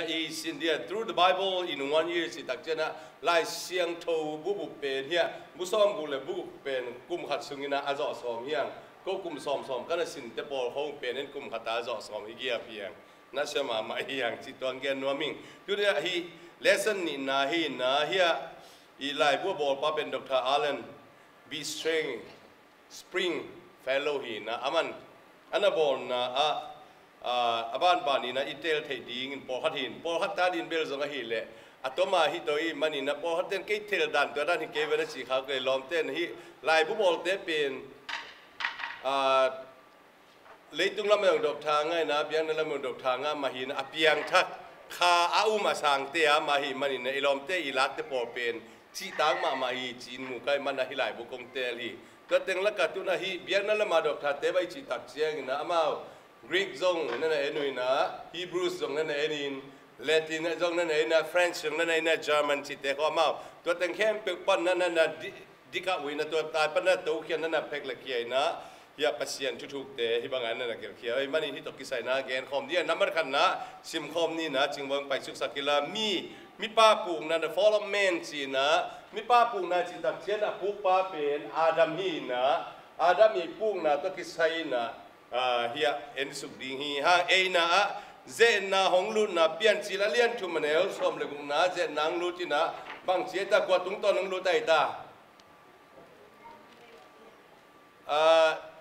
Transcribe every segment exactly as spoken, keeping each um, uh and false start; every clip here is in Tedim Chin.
I sin dia, Through the Bible in One Year cih tak ciangin ah, Lai Siangtho bu guk pen hiah, bu sawmguk le bu guk pen kum khat sungin ah a zawh sawm hi hang. Ko kum sawmsawm ka na sinte pawl khawng pen in kum khat a zawh sawm hi giap hi hang. Na sia mahmah hi hang cih tuang gen nuam ing. Tuni ah hih lesson nihna hi in ah, hiah i laibu a bawlpa pen Doctor Alan B. Strang, Spring Fellow hi in ah, aman a na bawlna ah, ah, a banban in ah i tel theih dingin pawlkhat hi in, pawlkhat ta ding bel zong ahih leh a tawm a hi to i hih manin ah, pawlkhat ten kei thei dan, tua dan hi kei ve na ci kha kei lawm ten, hih laibu bawlte pen, ah, leitung lam ah zong doctor ngah in ah, biakna lam ah zong doctor ngah mah hi in ah, a piangthak kha a um a sangte a mah hi manin ah, i lawmte i lakte pawl pen cihtak mahmah hi ci-in mu ka hih manin ah hih laibu kong tel hi. Tua teng lakah tu-in ah hih biakna lam ah doctorte bang i cih tak ciangin ah, amau Greek zong na na en uh in ah, Hebrews zong na na en in, Latin zong na na en in ah, French zong na na en in ah, German cihte khawng amau tua teng khempeuh pan na na na di- dikah uh in ah, tua tai pan na tokhia na na phek le khia in ah, hiah Pasian thuthukte hih bangah na na gelhkhia. Ahih manin hih tawh kisai in ah gen khawm ding a, nambat khatna simkhawm ni in ah, Cingvang pai suksak hi la, mi, mipa pukna, the fall of man ci in ah, mipa pukna cih tak ciangin a pukpa pen Adam hi in ah, Adam i pukna tawh kisai in ah, ah, hiah en suk ding hi hang. Ei in ah, ah, ze-etna hong lutna, Piancil a lian thum a neu sawm le gukna, ze-etna hong lut in ah, bangci a hi ta, kua tungtawn hong lut a hi ta? Ah,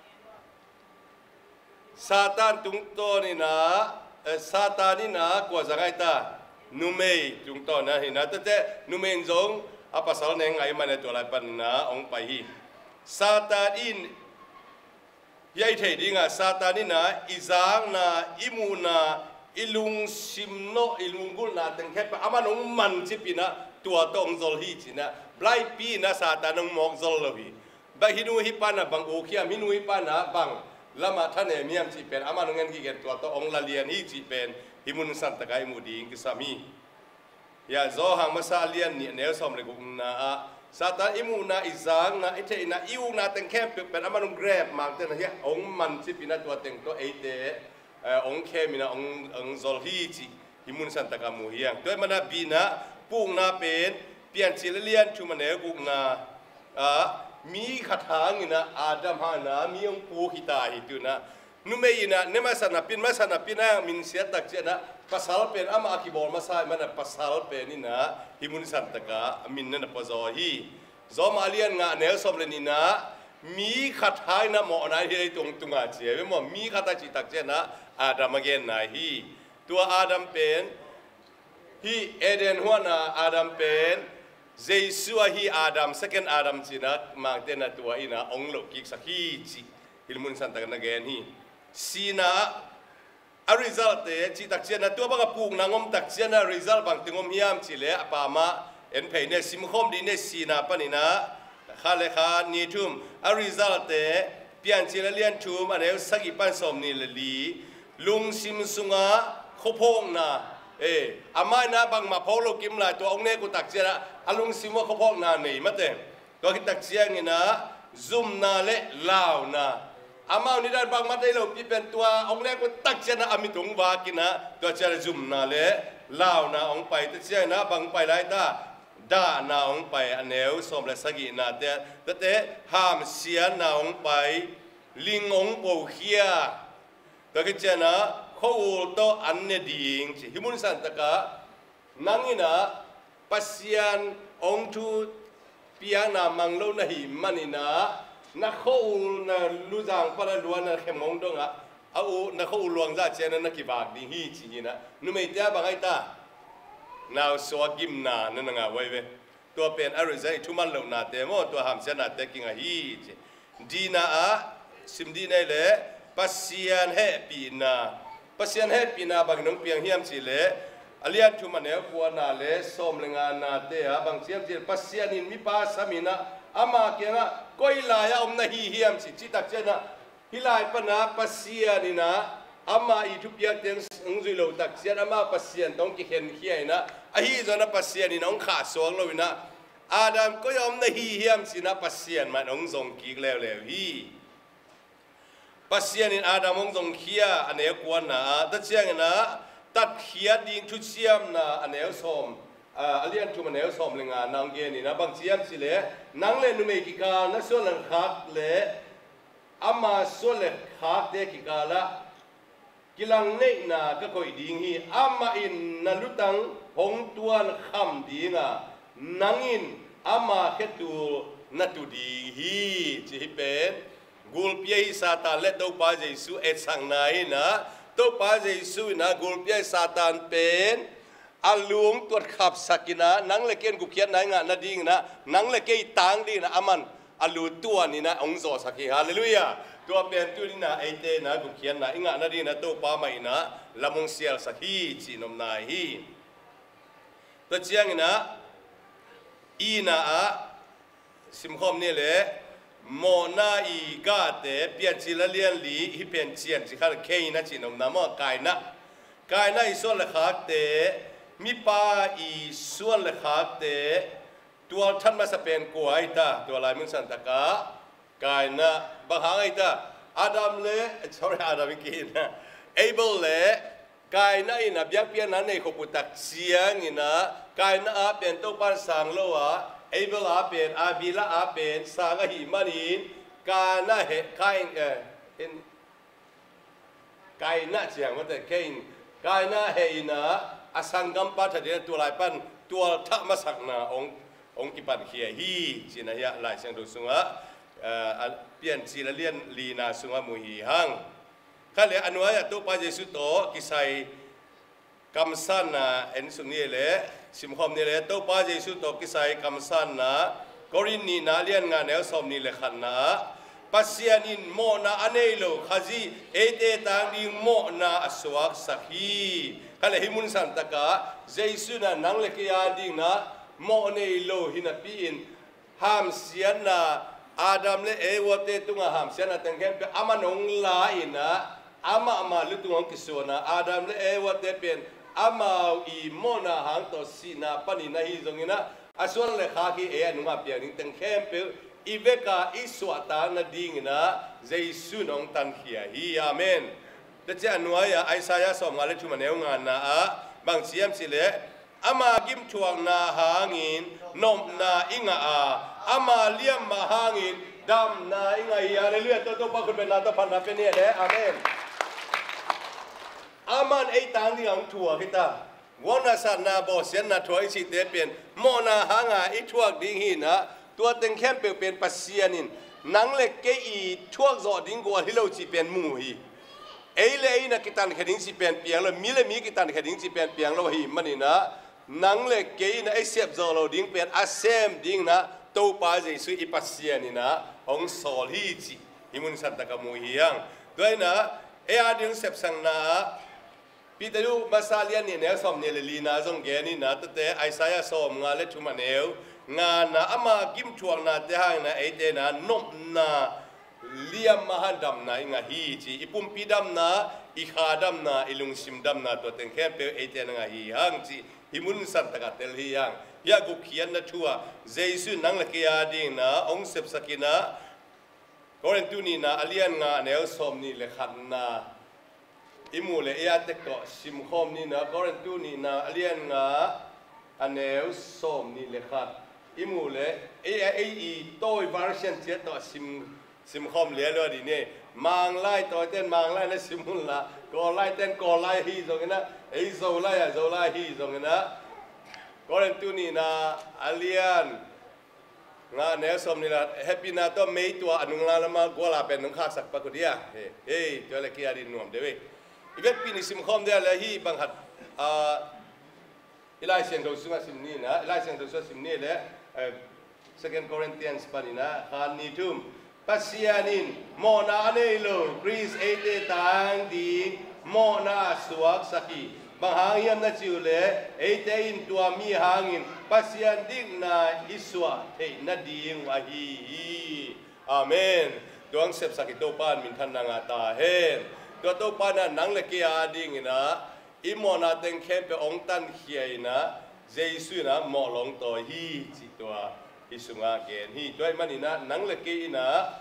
Satan tungtawn in ah, eh, Satan in ah kua zang a hi ta? Numei tungtawn a hi in ah, tua teh numei in zong a pasal neng ngaih manin ah tua lai panin ah hong pai hi. Satan in, hiah i theih ding ah, Satan in ah i zakna, i muhna, i lungsim nawh, i lunggulhna teng khempeuh aman hong mancip in ah, tua tawh hong zol hi ci in ah, blind pi in ah Satan hong mawk zol lo hi. Bang hih nu hih pa in ah bang uk hiam, hih nu hih pa in ah bang lamah thanem hiam cih pen aman hong en gige in, tua tawh hong la lian hi cih pen hih mun santak ah i muh ding kisam hi. Hiah Johan masa a lian nih a neu sawm le gukna ah, Satan i muhna, i zakna, i theihna, i ukna teng khempeuh pen aman hong grab, mangte in ah hiah hong mancip in ah, tua teng tawh eite, eh, hong khem in ah, hong, hong zol hi cih hih mun santak ah mu hi hang. Tua ahih manin ah B in ah, pukna pen Piancil a lian thum a neu gukna ah, mi khat hangin ah, Adam hangin ah mi hong puk hi ta hi. Tu-in ah numei in ah ne masa napi-in, masa napi-in ah minsiat tak ciangin ah, pasal pen amah a kibawl masa ahih manin ah pasal pen in ah hih mun santak ah a min na na pua zaw hi. Rom a lian nga a neu sawm le nihna ah, mi khat hangin ah mawhna hi leitung tungah ci hi ve maw. Mi khat a cih tak ciangin ah Adam a genna hi. Tua Adam pen hih Eden huan a Adam pen Jesu ahi Adam, second Adam ci-in ah mangte in ah tua in ah hong lohkiksak hi cih hih mun santak ah na gen hi. Sihna ah a result te cih tak ciangin ah, tua bang a pukna hong om tak ciangin ah result bangteng om hiam cih leh a pamah en phei ni, simkhawm dih ni, sihna panin ah khat le khat, nih, thum, a result te, Piancil a lian thum a neu sagih pan sawmnih le li, lungsim sungah khuaphawkna, eh, amah in ah bangmah phawk lo kim lai, tua hong nek uh tak ciangin ah a lungsim uah khuaphawkna nei mate. Tua khit tak ciangin ah zumna le launa. Amau nidang bangmah deih lopi pen tua hong nek uh tak ciangin ah a mit hong vak in ah, tua ciangin ah zumna le launa hong pai. Tua ciangin ah bang hong pai lai ta? Dahna hong pai, a neu sawm le sagihnate. Tuate hamsiatna hong pai, ling hong pokhia. Tua khit ciangin ah khua-ul tawh an ne ding ci. Hih mun santak ah nang in ah Pasian hong thu piakna mang lo na hih manin ah, na khua-ul, na luzang pan a lua, na khem hong dong ah, a u, na khua-ul luang zah ciangin ah na kivak ding hi ci hi in ah, numeite ah bang a hi ta? Nausuak gimna na na ngah uh hi ve. Tua pen a result, i thuman lohnate maw, tua hamsiatnate kingah hi ci. Dina ah sim dih ni leh, Pasian hehpihna. Pasian hehpihna bangin hong piang hiam cih leh, a lian thum a neu kuana le sawm le nganate ah bang ci hiam cih leh, Pasian in mipa sam in ah ama kiangah, koi lai-ah om na hi hiam ci, cih tak ciangin ah, hih lai pan ah Pasian in ah ama i thupiakte hong zuih loh tak ciang, ama Pasian tawh hong kikhenkhia in ah, ahi zongin ah Pasian in ah hong khahsuak lo in ah, Adam, koi-ah om na hi hiam ci-in ah Pasian mah in hong zong kik leuleu hi. Pasian in Adam hong zongkhia, a neu kuana ah, tua ciangin ah tatkhiat ding thuciamna a neu sawm, a, a lian thum a neu sawm le nga na hong gen in ah, bang ci hiam cih leh, nang le numei kikal na suan le khak le ama suan le khakte kikalah kilangneihna ka koih ding hi. Amah in na lutang hong tuan kham ding a, nang in ama khetul na tu ding hi, ci hi pen. Gulpi ahi Satan le Topa Jesu etsakna in ah, Topa Jesu in ah gulpi ahi Satan pen a lu hong tuat khapsak in ah, nang le kei in gupkhiatna i ngah nading in ah, nang le kei i tang ding in ah, aman a lu tuan in ah hong zawhsak hi. Halleluiah. Tua pen tuni in ah eite in ah gupkhiatna i ngah nading in ah Topa mah in ah lam hong sialsak hi, cih nopna hi. Tua ciangin ah, i na ah, simkhawm ni leh, mawhna i gahte, Piancil a lian li, hih pen cian ci kha, Kain a cih nopna maw, Kain a. Kain a i suan le khakte, mipa i suan le khakte, tualthat masa pen kua ahi ta, tua lai mun santak ah, Kain a. Bang hang ahi ta, Adam le, sorry, Adam i ki in ah, Abel le, Kain a in ah biakpiakna nei khop uh tak ciangin ah, Kain a pen Topa in sang lo a, Abel a pen, Abel a pen sang ahih manin, Kain a he, Kain, eh, in, Kain a ciang mate, Kain, Kain a he in ah, a sanggampa that in ah, tua lai pan tualthat masakna hong, hong kipankhia hi, ci-in ah hiah Lai Siangtho sungah, eh, a Piancil a lian lina sungah mu hi hang. Kha le a nuai-ah Topa Jesu tawh kisai kamsanna en suk ni le, simkhawm ni le, Topa Jesu tawh kisai kamsanna, Korin nihna lian nga neu sawm ni le khatna ah, Pasian in mawhna a nei lo Khazih eite tang ding mawhna a suaksak hi. Kha le hih mun santak ah, Jesu in ah nang le kei a ding in ah mawh nei lo hi napi in, hamsiatna, Adam le Eva te tungah hamsiatna teng khempeuh aman hong la in ah, amah mah lutung hong kisuan a, Adam le Eva te pen amau i mawhna hang tawh sihna panin ahi zongin ah, a suan le khak hi, ei a nungah piang ding teng khempeuh i vek a i suahtak nading in ah Jesu in hong tankhia hi. Amen. Tua ciang a nuai-ah Isaiah sawmnga le thum a neu ngana ah bang ci hiam cih leh, ama gimthuakna hangin nopna i ngah a, ama liamma hangin damna i ngah hi. Halleluiah. Tua Topa khut bengna tawh phatna pia ni le. Amen. Aman ei tang ding a hong thuak hi ta. Gualnasakna, bawlsiatna thuak i cihte pen mawhna hanga i thuak ding hi in ah, tua teng khempeuh pen Pasian in nang le kei i thuak zawh ding gual hi lo cih pen mu hi. Ei le ei in ah kitankhia ding cih pen piang lo, mi le mi kitankhia ding cih pen piang lo ahih manin ah, nang le kei in ah ei sep zawh loh ding pen a sem ding in ah Topa Jesu i Pasian in ah hong sawl hi cih hih mun santak ah mu hi hang. Tua in ah ei a ding sepsakna ah, Peter masa lian nih neu sawm nih le lina zong gen in ah, tuate Isaiah sawmnga le thum a neu ngana, ama gimthuaknate hangin ah eite in ah nopna, liamma hang damna i ngah hi ci. I pumpi damna, i kha damna, i lungsim damna, tua teng khempeuh eite in ah ngah hi hang ci. Hih mun santak ah tel hi hang. Hiah gupkhiatna thu ah Jesu in nang le kei a ding in ah hong sepsak in ah, Korintu nihna a lian nga a neu sawm nih le khatna i mu le, ei a tek tawh simkhawm ni in ah, Korintu nihna a lian nga a neu sawm nih le khat i mu le, ei a, ei i Tawi version ciat tawh sim, simkhawm lialuat dih ni. Manglai Tawite in Manglai na sim un la, Kawllai ten Kawllai hi zongin ah, ei Zolai ah Zolai hi zongin ah, Korintu nihna a lian nga neu sawm nih le khat, hehpihna tawh mei tua a nunglam lamah gual a pen nong khaksak pak uh dia. Hei, hei, tua le kia ding nuam deuh ei. I vekpi nih simkhawm dia le hih bang khat, ah, i Lai Siangtho sungah sim ni in ah, i Lai Siangtho sungah sim ni le, eh, Second Corinthians panin ah, khan nih thum. Pasian in mawhna a nei lo Khrist eite tang ding mawhna a suaksak hi. Bang hang hiam na cih uh leh, eite in tua mi hangin Pasian dikna i suah theih nading uh ahi hi. Amen. Tua hong sepsak i Topa in minthanna ngah ta hen. Tua Topa in ah nang le kei a dingin ah i mawhna teng khempeuh hong tankhia in ah, Jesu in ah mawh lawngtawi hi cih tua hih sungah gen hi. Tua ahih manin ah nang le kei in ah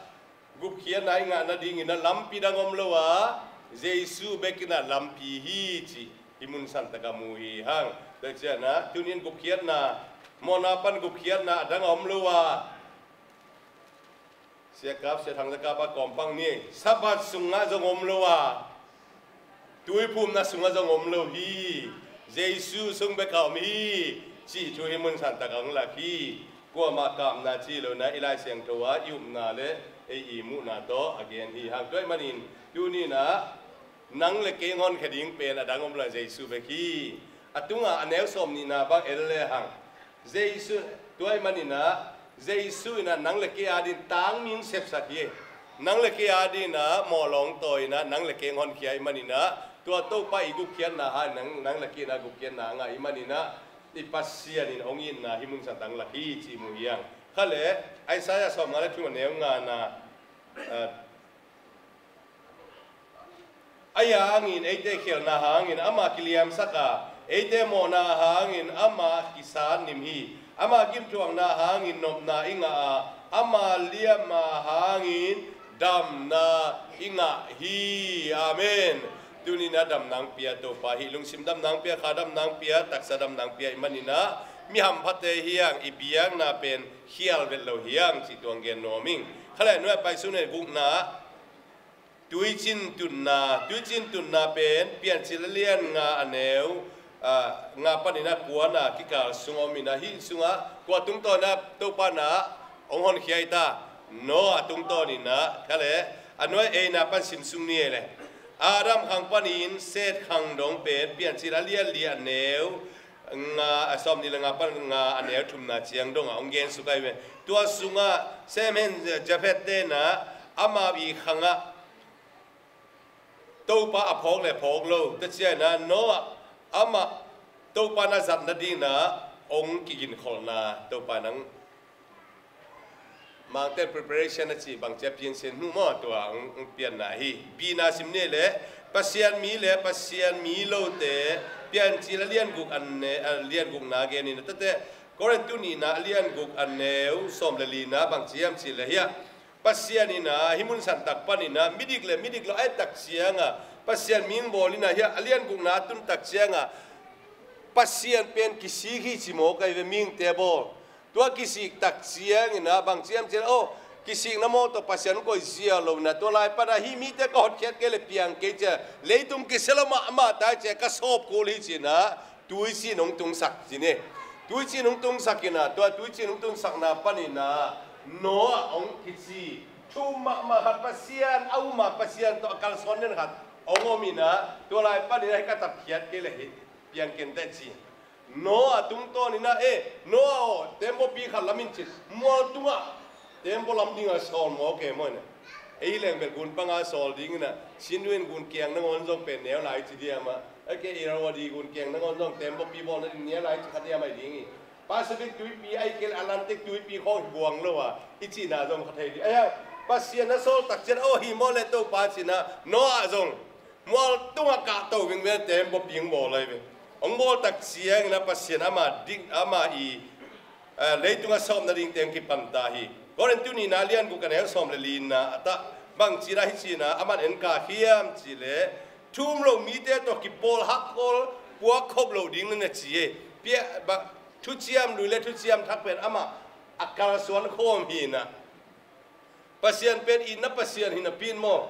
gupkhiatna i ngah nadingin ah lampi dang om lo a, Jesu bek in ah lampi hi cih hih mun santak ah mu hi hang. Tua ciangin ah tuni in gupkhiatna, mawhna pan gupkhiatna a dang a om lo a, Sia Kap, Sia Thang, Sia Kap a kawmpang ni. Sabbath sungah zong om lo a, tuiphumna sungah zong om lo hi. Jesu sung bek a om hi cih thu hih mun santak ah hong lak hi. Kuamah kapna ci lo in ah i Lai Siangtho ah i upna le ei i muhna tawh a gen hi hang. Tua ahih manin tuni in ah nang le kei hong honkhia ding pen a dang om lo a, Jesu bek hi. A tungah a neu sawm nihna bang en le hang, Jesu, tua ahih manin ah Jesu in ah nang le kei adingin tangmi hong sepsak hi. Nang le kei adingin ah mawh lawngtawi in ah nang le kei hong honkhia ahih manin ah, tua Topa i gupkhiatna hangin nang, nang le kei in ah gupkhiatna a ngah ahih manin ah, i Pasian in hong itna hih mun santak ah hong lak hi cih mu hi hang. Kha le, Isaiah sawmnga le thum a neu ngana, ah, Ahi hangin eite khialhna hangin amah kiliamsak a, eite mawhna hangin amah kisatnim hi. Amah gimthuakna hangin nopna i ngah a, amah liamna hangin damna i ngah hi. Amen. Tuni in ah damna hong pia Topa hi. Lungsim damna hong pia, kha damna hong pia, taksa damna hong pia ahih manin ah mi hamphate hi hang, i biakna pen khial vet lo hi hang cih tua hong gen nuam ing. Kha le, nuai pai sung, neu gukna, tuicin tutna. Tuicin tutna pen Piancil a lian nga a neu, ah, nga panin ah kuana kikal sung om in ah, hih sungah kua tungtawn in ah Topa in ah hong honkhia hi ta? Noah tungtawn in ah. Kha le, a nuai eina pan sim sung ni ei le. Adam khang panin Seth khang dong pen Piancil a lian li a neu nga, a sawmnih le nga pan nga a neu thumna ciang dong ah hong gen suk ahi ve. Tua sungah Shem, Ham, Japheth te in ah amau i khangah Topa a phawk le phawk lo, tua ciangin ah Noah amah Topa in ah zat nadingin ah hong kiginkholhna, Topa in ah Mangte preparation a cih bang ci a, piansian hnu maw, tua hong, hong pianna hi. Bina sim ni le, Pasian mi le Pasian mi lote, Piancil a lian guk a ne, a lian gukna gen in ah, tate, Korintu nihna a lian guk a neu sawm le lina bang ci hiam cih le hiah, Pasian in ah hih mun santak panin ah midik le midik lo a et tak ciangah, Pasian mi hong bawl in ah hiah a lian gukna a tun tak ciangah, Pasian pen kisik hi ci mawk ahi ve, mihingte bawl. Tua kisik tak ciangin ah bang ci hiam cih le, aw, kisikna mawl tawh Pasian hong koih zia lo in ah, tua lai pan ah hih mite ka hotkhiat kei le piang kei ci a, leitung kisia lo mahmah ta hi ci a, ka sawp kul hi ci in ah tuicin hong tungsak ci ni. Tuicin hong tungsak in ah, tua tuicin hong tunsakna panin ah Noah hong kici. Thu um mahmah khat, Pasian a um a, Pasian tawh a kalsuan den khat hong om in ah, tua lai panin ah hih ka tatkhiat kei le hih piang ken teh ci. Noah tungtawn in ah, eh, Noah aw, tembaw pi khat lam in ci. Mual tungah tembaw lam ding a sawl mawk e maw in ah. Ei leng bel gun panga sawl ding in ah, Chin Twin gun kiang nangawn zong pen neu lai ci diam ah. Ei ke Irrawaddy gun kiang nangawn zong tembaw pi bawlna ding neu lai ci kha diam ahi ding hi. Pacific tuipi, ahih kei le Atlantic tuipi khawng hi buang lo a, i cihna zong kha thei ding. Ahi hang, Pasian a sawl tak ciang, aw, hi maw le Topa ci in ah, Noah zong mual tungah kahto vingveng, tembaw pi hong bawl lai ve. Hong bawl tak ciangin ah Pasian amah dik, amah i, eh, leitungah sawp nading teng kipan ta hi. Korintu nihna a lian guk a neu sawm le lina ah tah bang ci in ah, hih ci in ah, aman en kha hiam cih le, thu um lo mite tawh kipawl hakkol puak khop loh ding na ci e. Pia, ba, thuciam lui le thuciam thak pen amah a kalsuan khawm hi in ah. Pasian pen itna Pasian hi napi in maw,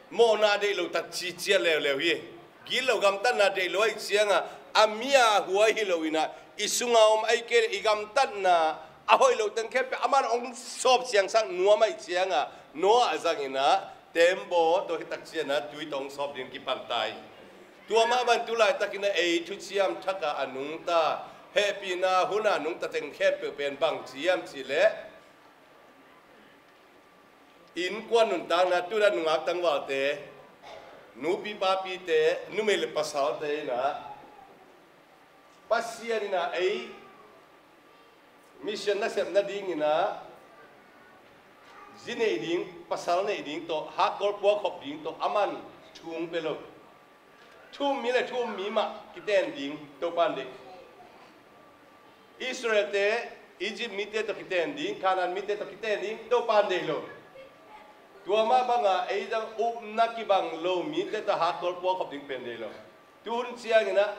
mawhna deih lo tak ci ciat leuleu hi. Gilo gamtatna deih lo ahih ciangah, a mi a huai hi lo in ah, i sunga om ahih kei le i gamtatna a hoih loh teng khempeuh aman hong sawp siangsak nuam ahih ciangah, Noah a zang in ah tembaw tawh hih tak ciang ah tui tawh hong sawp ding kipan ta hi. Tua mah bang tu laitakin ah ei thuciam thak ah a nungta, hehpihna hun ah a nungta teng khempeuh pen bang ci hiam cih leh, innkuan nuntakna, tu in ah nungak tangvalte, nupi papite, numei le pasalte in ah Pasian in ah ei mission nasep nadingin ah zi neih ding, pasal neih ding tawh, hakkol puakkhop ding tawh aman thu hong pia lo. Thu um mi le thu um mi mah kiten ding Topa'n deih. Israelte Egypt mite tawh kiten ding, Canaan mite tawh kiten ding Topa'n deih lo. Tua mah bangah ei zong upna kibang lo mite tawh hakkol puakkhop ding pen deih lo. Tu hun ciangin ah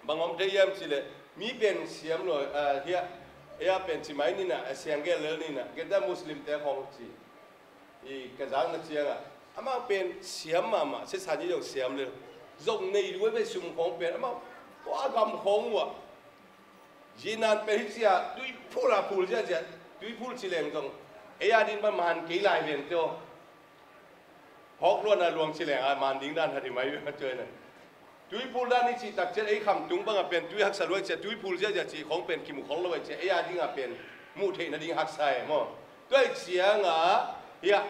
bang om thei hiam cih leh, mi pen siam lo, ah, hiah, ei a pen ci mai ni na, a siang gel lel ni na, geta Muslim te khong ci. I ka zak na ciangah amau pen siam mahmah, sisan hi zong siam lel. Zong nei lua ve, sum khong pen amau tua gam khong uh ah. Zinan pen hi cia, tuiphul a phul ziazia, tuiphul ci leng zong ei a din man man kei lai ven teo. Hawk luan a luang ci leng a man ding dan hat hi mai ve ma cuai na. Tuiphul dan i cih tak ciat ei khamtung bangah pen tui haksa luai cia, tuiphul ziazia cih khong pen kimu khol lo ai cia, ei a dingah pen muh theih nading haksa e maw. Tuai ciangah hiah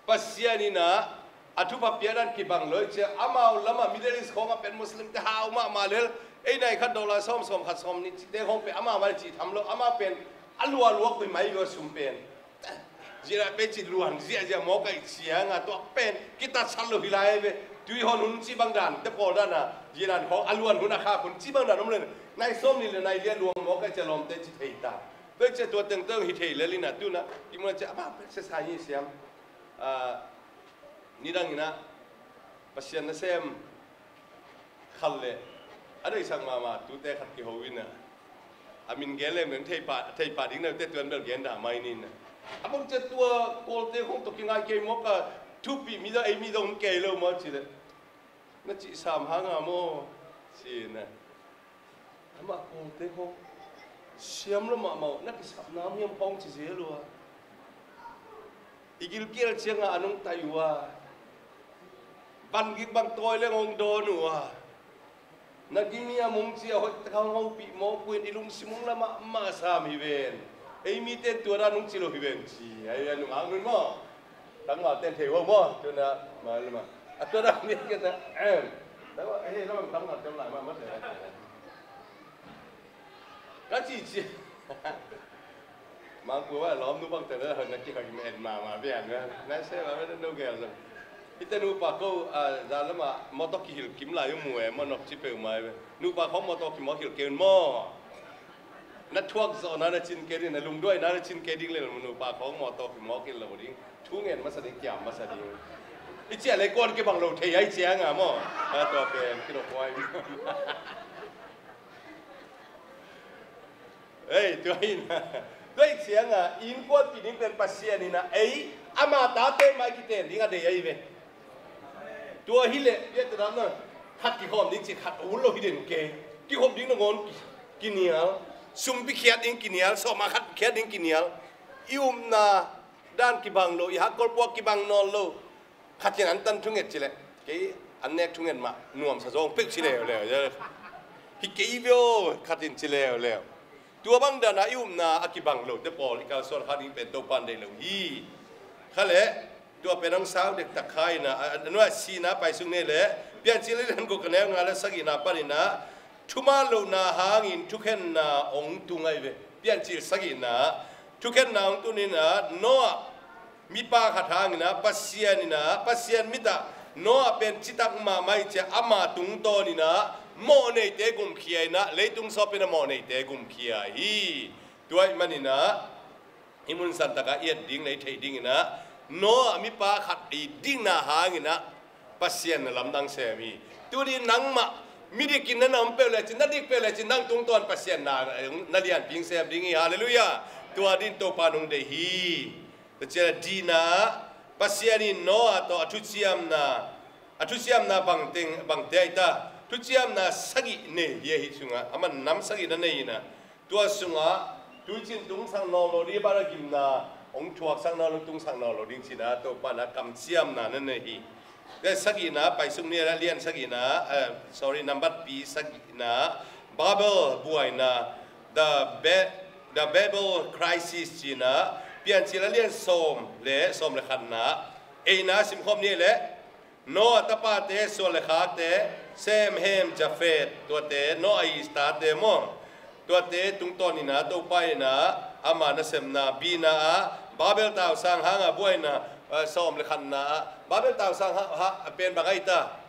Pasian in ah a thupha piak dan kibang lo ai cia, amau lamah Middle East khongah pen Muslim te hau mahmah lel, ei nai khat dollar sawm, sawm khat, sawm nih cihte khong pen amau mah cih tham lo, amau pen a lualuak pai mai ve sum pen. Zianah pen ci luan ziahziah mawk aih ciangah tua pen kitatsat lo hi lai ve. Tuihon hun ci bang dan te pawl dan a, zianan khawng a luan hun a khak hun ci bang dan om len, nai sawm nih le nai liah luang mawk aih cia lawmte ci thei ta. Tua cia tua tengteng hi thei lel in ah tu na kimu na cia amah pen sia sa hi siam. Ah, nidang in ah Pasian nasem khat le a deihsak mahmah tute khat kiho in ah, a min gen leng beng thei pah, thei pah ding na te tuan bel gen dah mai ni na. A bang cia tua Kawlte khong tawh kingai kei mawk a, thupi mi dong, ei mi dong kei lo maw ci leh, na cih sam hang a maw ci na. Amah Kawlte khong siam lo mahmah uh, na kisapna hiam khong ci zel uh a, i gilkial ciangah a nungtai uh a, van gik bang tawi leng hong dawn uh a, na gimi a mung ci a hoih tak hong hopih mawk uh in i lungsim hong la mahmah sam hi ven. Ei mite in tua dan hong ci lo hi ven ci. Ai a nung hang nun maw. Tangval ten thei uh maw. Tua na ma lama a tua dan ni ka ta em. Tangval ei lamang tangval ten lai mahmah te. Ka ci ci. Mangkua lawmnu bang tena hana kihak in en mahmah bian na. Nai se ma bia no gel zong. Hite nupa ko a za lama mawtaw kihilh kim lai uh mu e maw, nok ci peuhmah e. Nupa khong mawtaw kimawk hilh kei un maw. Na thuak zawhna na cin kei ding, na lungduaina na cin kei ding le nupa khong mawtaw kimawk hilh lo ding. Thu ngen masa ding, kiam masa ding. I ciah le kuan kibang lo thei ai ciang a maw. A tua pen kidok huai. Ei, tua hi na. Tua hi ciangah innkuanpih ding pen Pasian in ah ei ama tate mai kiten ding a dei ahi ve. Tua hi leh biate dam na khat kikhawm ding ci khat a hun lo hi den ke. Kikhop ding nangawn ki, kinial. Sumpi khiat ding kinial, sawma khat khiat ding kinial. I upna dan kibang lo, i hakkol puak kibang nawn lo. Khat in an tan thunget ci leh kei an nek thunget mah nuamsa zawng pek ci leuleu. Hi kei veo khat in ci leuleu. Tua bang dana i upna a kibang lote pawl i kalsuan kha ding pen Topa in deih lo hi. Kha leh tua pen hong sau dektak kha ina a nuai sina paisuk nei leh Piancil lian guk a neu nga le sagihna paninah thuman lohna hangin thukhenna hong tung ahi ve. Piancil sagihna thukhenna hong tuninah Noah mipa khat hanginah Pasian inah Pasian mitah Noah pen citak mahmah ih ciah ama tungtawninah mawh neite gumkhia inah leitung sawpin a mawh neite gumkhia hi. Tua ih maninah hih mun santakah i et ding le i theih dinginah Noah mipa khat i dikna hanginah Pasian na lamdang sem hi. Tuni nangmah midikin na na om peuh lecin, na dik peuh lecin, nang tungtawn Pasian na, na lianpi sem ding hi. Halleluiah. Tua din Topa nong deih hi. Tua ciah dina Pasian in Noah tawh a thuciamna, a thuciamna bangteng, bangte ahi ta. Thuciamna sagih nei hi ahi sungah a man nam sagih na nei inah tua sungah tuicin tungsak nawn lo ding, bana gimna hong thuaksak nawn lo, tungsak nawn lo ding cinah Topa na kamciamna na nei hi. Tua sagihna paisuk ni a lian sagihna, eh, sorry, nambat pi sagihna Babel buaina, the Ba-, the Babel crisis cinah Piancil a lian sawm le sawm le khatna eina simkhawm ni leh Noah tapate suan le khakte, Sem, Hem, Jafet, tuate Noah ii tate maw? Tuate tungtawn inah Topa inah ama nasemna bina ah Babel tausang hanga buaina, eh, sawm le khatna ah Babel tausang ha, ha, pen bang ahi ta?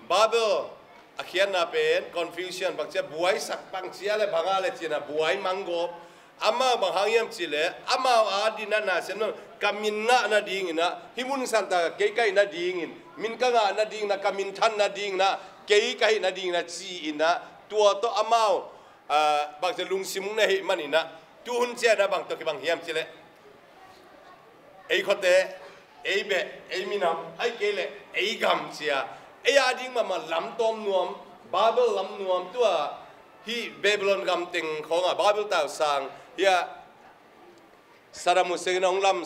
Babel a khiatna pen confusion bangcia buaisak bangcia le banga le cinah buai manggawp. Amau bang hang hiam cihleh amau a dinah na sem lo ka min ngah nadinginah hih mun santa kei kaih nadingin min ka ngah nadingin ah, ka minthan nadingin ah, kei ka hih nadingin ah ci-in ah, tua tawh amau, ah, bangci lungsim na hih manin ah, tuhun ciangin ah bang tawh kibang hiam cih leh, ei khuate, ei beh, ei minam, ahih kei leh ei gam ci-a, ei a ding mahmah lam tawm nuam, Babel lam nuam, tua hih Babylon gam teng khawng ah, Babel tausang hi-a, Saddam Hussein in hong lam,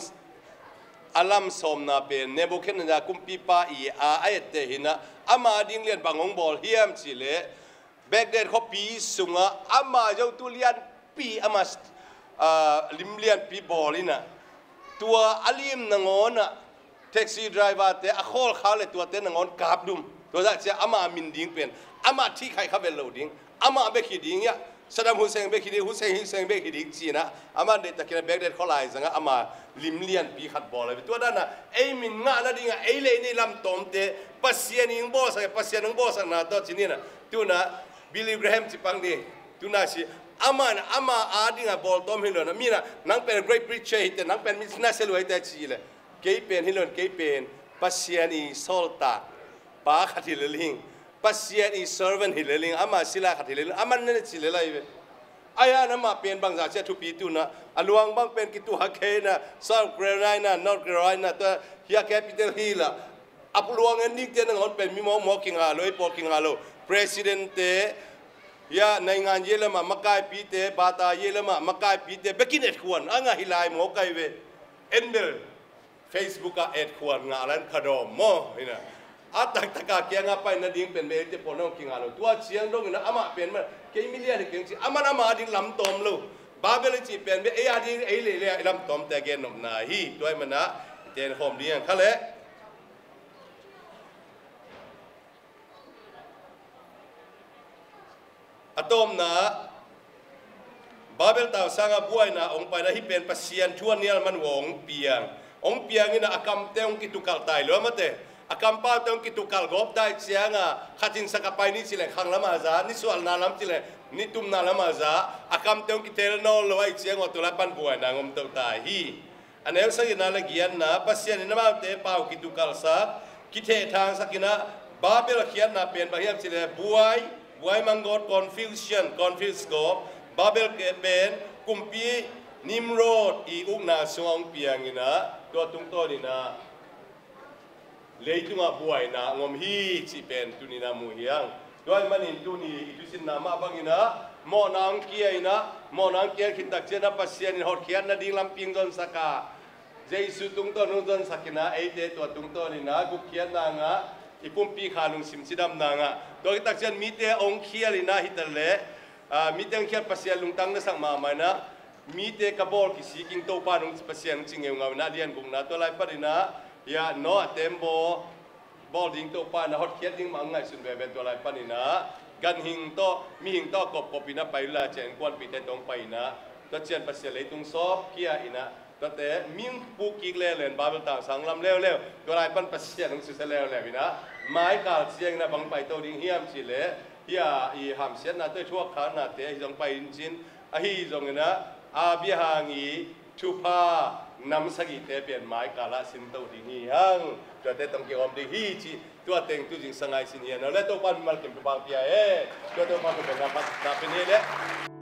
a lam sawmna pen Nebuchadnezzar kumpipa i a a etteh hi-in ah, ama ding lian bang hong bawl hiam cih leh, Baghdad khuapi sungah ama zotu lianpi, ama, ah, lim lianpi bawl in ah, tua a lim nangawn ah taxi driver-te a khawl khak leh tuate nangawn kapdum. Tua zah ciang ama min ding pen, ama thihkhaih kha vet loh ding, ama bek hi ding hi-a, Saddam Hussein bek hi ding, Hussein, Hussein bek hi ding ci-in ah, ama deihtakin ah Baghdad khualai zangah ama lim lianpi khat bawl hi. Tua dan ah ei min ngah nadingin ah ei leh ei lam tawmte Pasian in hong bawlsak, Pasian hong bawlsakna tawh ci-in ah, tu-in ah Billy Graham ci pang ni, tu-in ah si, amah in ah ama a dingin ah bawl tawm hi lo-in ah, mi in ah nang pen great preacher hi teh, nang pen mi na sia lua hi teh ci leh, kei pen hi lo-in, kei pen Pasian i sawltak pa khat hi lel ing, Pasian i servant hi lel ing, ama sila khat hi lel ing, aman na ci lel ahi ve. Ahi hang amah pen bangzah ciang thupi, tu-in ah a luang bang pen kituak kei-in ah, South Carolina, North Carolina, tua hi-a capital hill ah, a luang en dingte nangawn pen mi mawkmawk kingah lo, ei pawl kingah lo, president-te, hi-a naingan ye lamah makaipite, bata ye lamah makaipite bekin etkhuan a ngah hi lai mawk ahi ve. En bel Facebook ah etkhuan ngah lai-in phadawm maw, hi-in ah. A taktak a kiangah pai nading pen bel eite pawl hong kingah lo. Tua ciang dongin ah amah pen mah kei mi lian hi keng ci, aman ama a ding lam tawm lo. Babel i cih pen bel ei a ding, ei leh ei leh ei lam tawmte a gennopna hi. Tua ahih manin ah i tenkhawm ding hi hang kha leh. A tawpna, Babel tausang ah buaina hong pai-in ah, hih pen Pasian thu a nial man uh a hong piang. Hong piang in ah a kamte hong kitukalh ta hi lo, amate. A kampaute hong kitukalh gawp ta ahih ciangin ah, khat in sak a pai ni ci leng khang lamah za, nisuahna lam ci leng nitumna lamah za, a kamte hong kitel nawn lo ahih ciangin ah, tua lai pan buaina hong om to ta hi. A neu sagihna leh giatna, Pasian in amaute pau kitukalhsak, kithehthangsak in ah, Babel khiatna pen bang hiam cih leh buai, buai mang gawp, confusion, confuse gawp, Babel pen kumpi Nimrod i ukna sungah hong piang in ah, tua tungtawn in ah leitungah buaina hong om hi cih pen tuni-in ah mu hi hang. Tua ahih manin tuni i thusinna mah bangin ah, mawhna hong kia in ah, mawhna hong kia khit tak ciangin ah Pasian in hotkhiat nading lampi hong zonsak a, Jesu tungtawn hong zonsak in ah, eite tua tungtawn in ah gupkhiatna ngah, i pumpi kha lungsim cidamna ngah. Tua khit tak ciangin mite hong khial in ah, hi ta leh, ah, mite hong khial, Pasian lungtang na sak mahmah in ah, mite ka bawl kisik ing Topa, nong Pasian hong ci ngeungau in ah, a lian gukna. Tua lai pan in ah, hi-a Noah tembaw bawl ding Topa in ah hotkhiat ding mah hong ngaihsun veve. Tua lai pan in ah ganhing tawh, mihing tawh a kopkop in ah pai uh lai, ciang innkuanpihte tawh hong pai in ah, tua ciang Pasian leitung sawp khia in ah, tuate mi hong puk kik leuleu in, Babel tausang lam leuleu, tua lai pan Pasian hong susia leuleu in ah, mai kal ciangin ah bang paito ding hiam cih leh, hi-a i hamsiatna tawh i thuakkhaknate ahi zong pai in cin, ahi zongin ah Abraham i thupha nam sagihte pen mai kal ah sinto ding hi hang. Tuate tawh kihawm ding hi cih tua teng tu zingsa-in i sin hi hang. Tua leh Topa'n mimal kim thupha hong pia hen. Tua Topa'n thupha hong pia hen.